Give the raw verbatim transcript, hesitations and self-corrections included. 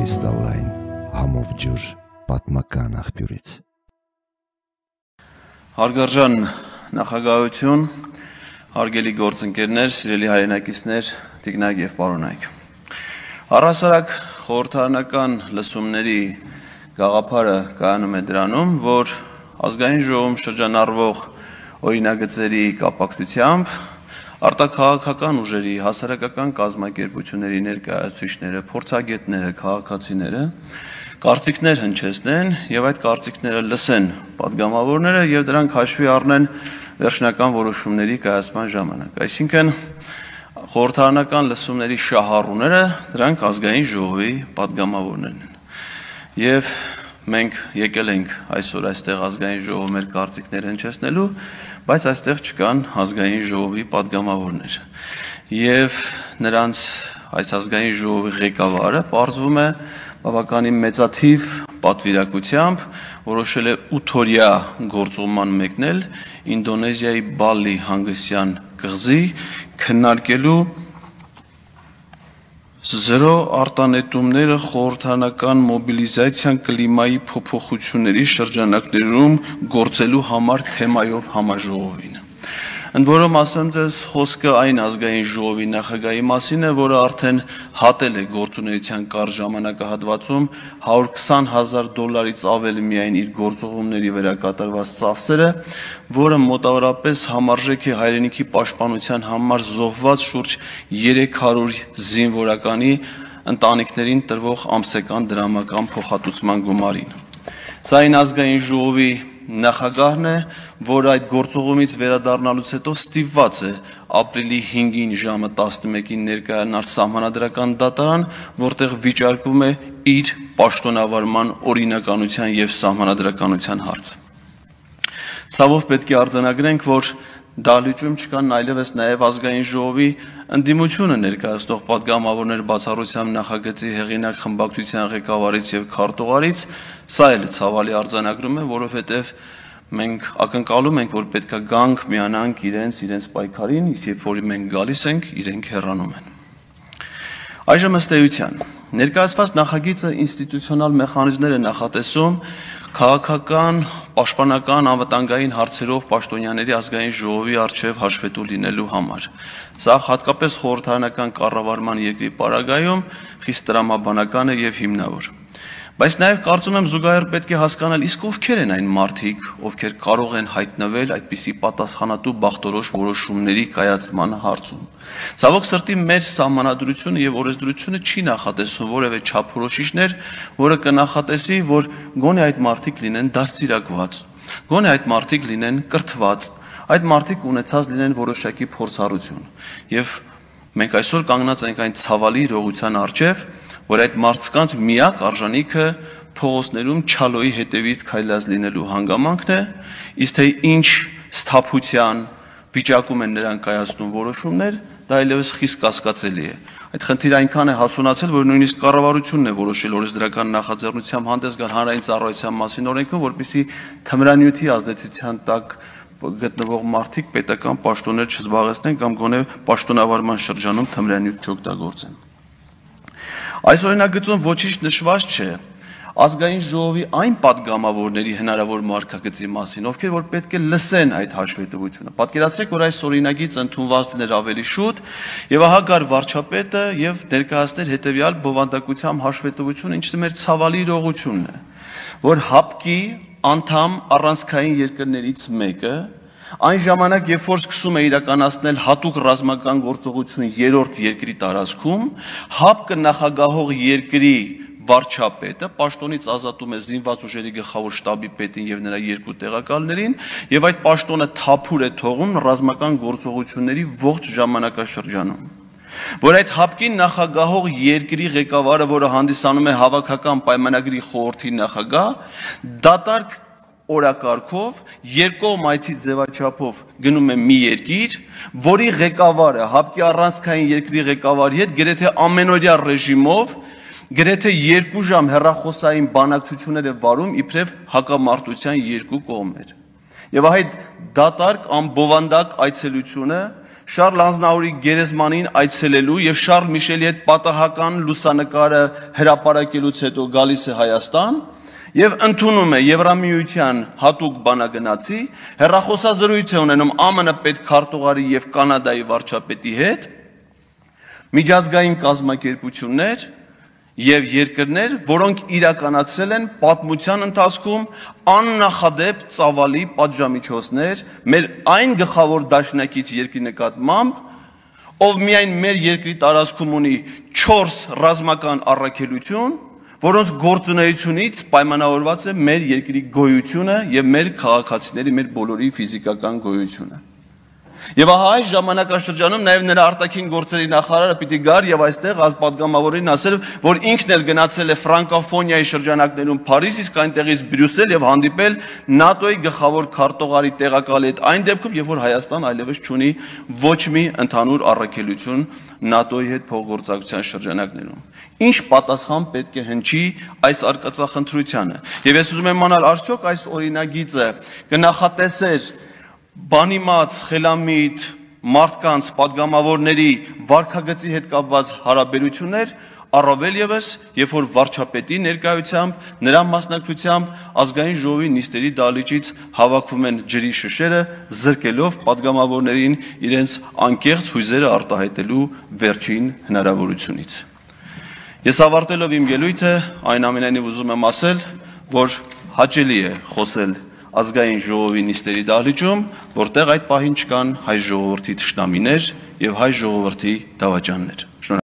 Կրիստալային համով ջուր պատմական աղբյուրից։ Հարգարժան նախագահություն, հարգելի գործընկերներ, սիրելի հայրենակիցներ, տիկնայք եւ պարոնայք։ Առհասարակ խորհրդարանական լսումների գաղափարը կայանում է դրանում, որ ազգային ժողովում շրջանառվող օրինագծերի կապակցությամբ արտաքաղաքական ուժերի, հասարակական կազմակերպությունների ներկայացուցիչները, փորձագետները, քաղաքացիները կարծիքներ հնչեցնեն եւ այդ կարծիքները լսեն պատգամավորները եւ դրանք հաշվի առնեն վերջնական որոշումների կայացման ժամանակ։ Այսինքն խորհրդարանական լսումների շահառուները դրանք ազգային ժողովի պատգամավորներն են։ Եվ մենք եկել ենք այսօր այստեղ ազգային ժողովի մեր կարծիքներ հնչեցնելու, բայց այստեղ չկան ազգային ժողովի պատգամավորներ։ Եվ նրանց այս ազգային ժողովի ղեկավարը պարզվում է բավականին մեծաթիվ պատվիրակությամբ որոշել է ութօրյա գործուղման մեկնել Ինդոնեզիայի Բալի հանգստյան կղզի քննարկելու զրո արտանետումները խորհրդարանական մոբիլիզացիան կլիմայի փոփոխությունների շրջանակներում գործելու համար թեմայով համաժողովին։ Ընդ որում ասեմ ձեզ, խոսքը այն ազգային ժողովի նախագահի մասին է, որը արդեն հատել է գործունեության կարճ ժամանակահատվածում հարյուր քսան հազար դոլարից ավել միայն իր գործողումների վերակատարված ծախսերը, որը մոտավորապես համարժեք է հայրենիքի պաշտպանության համար զոհված շուրջ երեք հարյուր զինվորականի ընտանիքներին տրվող ամսական դրամական փոխհատուցման գումարին։ Սա այն ազգային ժողովի նախագահն է, որը այդ գործողումից վերադառնալուց հետո ստիպված է ապրիլի հինգին ժամը տասնմեկին ներկայանալ սահմանադրական դատարան, որտեղ վիճարկվում է իր պաշտոնավարման օրինականության եւ սահմանադրականության հարց։ Ցավով պետք է արձանագրենք, որ դահլիճում չկան այլևս նաև ազգային ժողովի ընդդիմությունը ներկայացնող պատգամավորներ բացառությամբ նախագծի հեղինակ խմբակցության ղեկավարից եւ քարտուղարից, սա էլ ցավալի արձանագրում է, որովհետեւ մենք ակնկալում ենք, որ պետքա գանք միանանք իրենց իրենց պայքարին, իսկ երբ որ մենք գալիս ենք, իրենք հեռանում են։ Այժմ ըստ էության ներկայացված նախագիծը ինստիտուցիոնալ մեխանիզմներ է նախատեսում քաղաքական, պաշտպանական, անվտանգային հարցերով պաշտոնյաների ազգային ժողովի առջև հաշվետու լինելու համար։ Սա հատկապես խորհրդարանական կառավարման երկրի պարագայում խիստ տրամաբանական է եւ հիմնավոր։ Բայց նաև կարծում եմ զուգահեռ պետք է հասկանալ, իսկ ովքեր են այն մարդիկ, ովքեր կարող են հայտնվել այդպիսի պատասխանատու բախտորոշ որոշումների կայացման հարցում։ Ցավոք սրտի մեր սահմանադրությունը եւ օրենսդրությունը չի նախատեսում որևէ չափորոշիչներ, որը կնախատեսի, որ գոնե այդ մարդիկ լինեն դաստիարակված, գոնե այդ մարդիկ լինեն կրթված, այդ մարդիկ ունեցած լինեն որոշակի փորձառություն։ Եվ մենք այսօր կանգնած ենք այն ցավալի իրողության առջև, որ այդ մարդկանց միակ արժանիքը փողոցներում չալոյի հետևից քայլած լինելու հանգամանքն է, իսկ թե ինչ սթափության վիճակում են նրանք կայացնում որոշումներ, դա այլևս խիստ կասկածելի է։ Այդ խնդիրը այնքան է հասունացել, որ նույնիսկ կառավարությունն է որոշել օրենսդրական նախաձեռնությամբ հանդես գալ հանրային ծառայության մասին օրենքում, որպեսզի թմրանյութի ազդեցության տակ գտնվող մարդիկ պետական պաշտոններ չզբաղեցնեն կամ գոնե պաշտոնավարման շրջանում թմրանյութ չօգտագործեն։ Այս օրինագծում ոչինչ նշված չէ ազգային ժողովի այն պատգամավորների հնարավոր մարգագծի մասին, ովքեր որ պետք է լսեն այդ հաշվետվությունը։ Պատկերացրեք, որ այս օրինագիծը ընդունված լիներ ավելի շուտ, եւ ահա գար վարչապետը եւ ներկայացներ հետեւյալ բովանդակությամբ հաշվետվությունը, ինչը մեր ցավալի իրողությունն է, որ հապկի անդամ առանցքային երկրներից մեկը այն ժամանակ, երբ որ սկսում է իրականացնել հատուկ ռազմական գործողություն երրորդ երկրի տարածքում, հապկը նախագահող երկրի վարչապետը պաշտոնից ազատում է զինված ուժերի գլխավոր շտաբի պետին եւ նրա երկու տեղակալներին, եւ այդ պաշտոնը թափուր է թողում ռազմական գործողությունների ողջ ժամանակաշրջանում։ Որ այդ հապկին նախագահող երկրի ղեկավարը, որը հանդիսանում է հավաքական պայմանագրի խորհրդի նախագահ, դատարկ օրակարգով երկկողմ այցի ձևաչափով գնում է մի երկիր, որի ղեկավարը հապկի առանցքային երկրի ղեկավարի հետ գրեթե ամենօրյա ռեժիմով գրեթե երկու ժամ հեռախոսային բանակցություններ է վարում իբրև հակամարտության երկու կողմեր։ Եվ այդ դատարկ անբովանդակ այցելությունը Շարլ Ազնավուրի գերեզմանին այցելելու եւ Շարլ Միշելի հետ պատահական լուսանկարը հրապարակելուց հետո գալիս է Հայաստան եւ ընդունում է Եվրամիության հատուկ բանագնացի, հեռախոսազրույց է ունենում Α M N պետքարտուղարի եւ Կանադայի վարչապետի հետ, միջազգային կազմակերպություններ եւ երկրներ, որոնք իրականացրել են պատմության ընթացքում աննախադեպ ծավալի պատժամիջոցներ մեր այն գլխավոր դաշնակից երկրի նկատմամբ, ով միայն մեր երկրի տարածքում ունի չորս ռազմական առաքելություն, որոնց գործունեությունից պայմանավորված է մեր երկրի գոյությունը եւ մեր քաղաքացիների, մեր բոլորի ֆիզիկական գոյությունը։ Եվ ահա այս ժամանակաշրջանում նաև նրա արտաքին գործերի նախարարը պիտի գար եւ այստեղ ազգապատգամավորին ասել, որ ինքն էլ գնացել է ֆրանկոֆոնիայի շրջանակներում Փարիզ, իսկ այնտեղից Բրյուսել եւ հանդիպել ՆԱՏՕ-ի գլխավոր քարտուղարի տեղակալի հետ այն դեպքում, երբ որ Հայաստան այլևս չունի ոչ մի ընդհանուր առաքելություն ՆԱՏՕ-ի հետ փոխգործակցության շրջանակներում։ Ինչ պատասխան պետք է հնչի այս արկածախնդրությանը։ Եվ ես ուզում եմ իմանալ, արդյոք այս օրինագիծը կնախատեսեր բանիմաց, խելամիտ, մարդկանց, պատգամավորների վարքագծի հետ կապված հարաբերություններ, առավել ևս, երբ որ վարչապետի ներկայությամբ, նրա մասնակցությամբ ազգային ժողովի նիստերի դահլիճից հավաքվում են ջրի շշերը, զրկելով պատգամավորներին իրենց անկեղծ հույզերը արտահայտելու վերջին հնարավորությունից։ Ես ավարտելով իմ ելույթը, այնուամենայնիվ ուզում եմ ասել, որ հաճելի է խոսել ազգային ժողովի նիստերի դահլիճում, որտեղ այդ պահին չկան հայ ժողովրդի թշնամիներ եւ հայ ժողովրդի դավաճաններ։